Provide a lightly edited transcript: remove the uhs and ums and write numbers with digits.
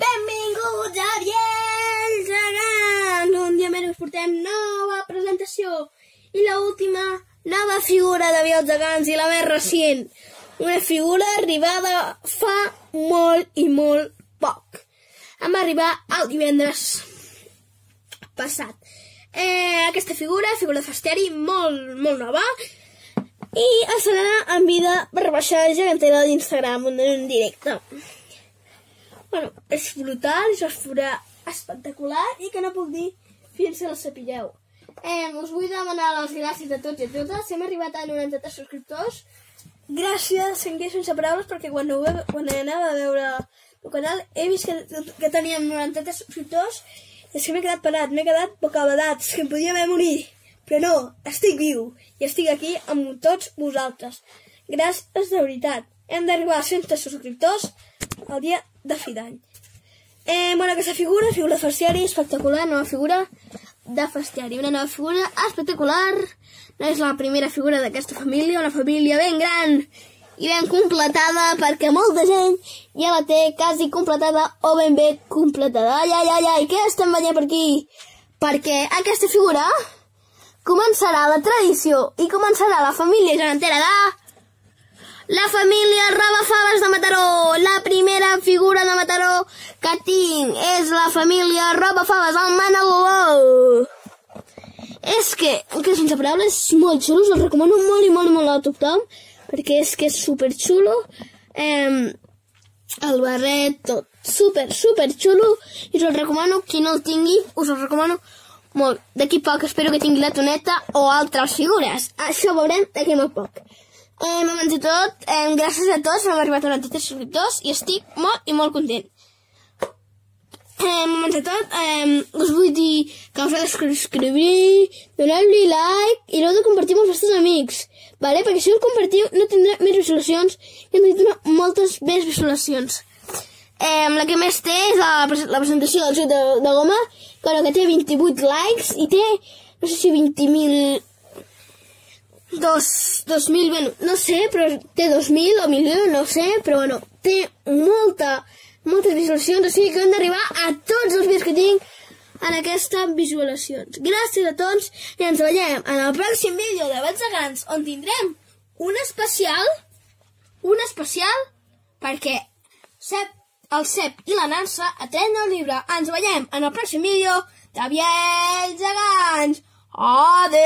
Benvinguts a Biells Gegants! Un dia més us portem nova presentació i l'última nova figura de Biells Gegants i la més recent. Una figura arribada fa molt i molt poc. Vam arribar el divendres passat. Aquesta figura de Fasteri, molt nova, i estrenada en vida per baixar gegantera d'Instagram en un directe. Bueno, és brutal, és una figura espectacular i que no puc dir fins que la sapigueu. Us vull demanar les gràcies a tots i a totes. Hem arribat a 93 subscriptors. Gràcies, sense paraules, perquè quan anava a veure el canal he vist que teníem 93 subscriptors i és que m'he quedat parat, m'he quedat bocabadat, és que em podia haver morit. Però no, estic viu i estic aquí amb tots vosaltres. Gràcies de veritat. Hem d'arribar a 100 subscriptors el dia de fi d'any. Bueno, aquesta figura de Fasteri, espectacular, nova figura de Fasteri. Una nova figura espectacular. No és la primera figura d'aquesta família, una família ben gran i ben completada, perquè molta gent ja la té quasi completada o ben bé completada. Ai, què estem veient per aquí? Perquè aquesta figura començarà la tradició i començarà la família gegantera de la família Robafaves de Mataró. La primera figura de Mataró que tinc és la família Robafaves, el Manaloló. És que sense paraules, és molt xulo, us el recomano molt a tothom, perquè és que és superxulo. El barret, tot, super xulo, i us el recomano, qui no el tingui, us el recomano molt. D'aquí poc espero que tingui la toneta o altres figures. Això ho veurem d'aquí molt poc. Abans de tot, gràcies a tots, hem arribat a 93 subscriptors i estic molt content. Abans de tot, us vull dir que us heu de subscriure, donar-li like i l'heu de compartir amb els vostres amics, vale? Perquè si ho compartiu no tindrà més visualitzacions i hem de donar moltes més visualitzacions. La que més té és la presentació del joc de goma, que té 28 likes i té, no sé si 20.000... 2.000, bueno, no sé, però té 2.000 o 1.000.000, no sé, però bueno, té moltes visualitzacions, o sigui que hem d'arribar a tots els vídeos que tinc en aquestes visualitzacions. Gràcies a tots i ens veiem en el pròxim vídeo de Biells Gegants, on tindrem un especial, perquè el Cep i la Nansa atenen el llibre. Ens veiem en el pròxim vídeo de Biells Gegants. Adeu!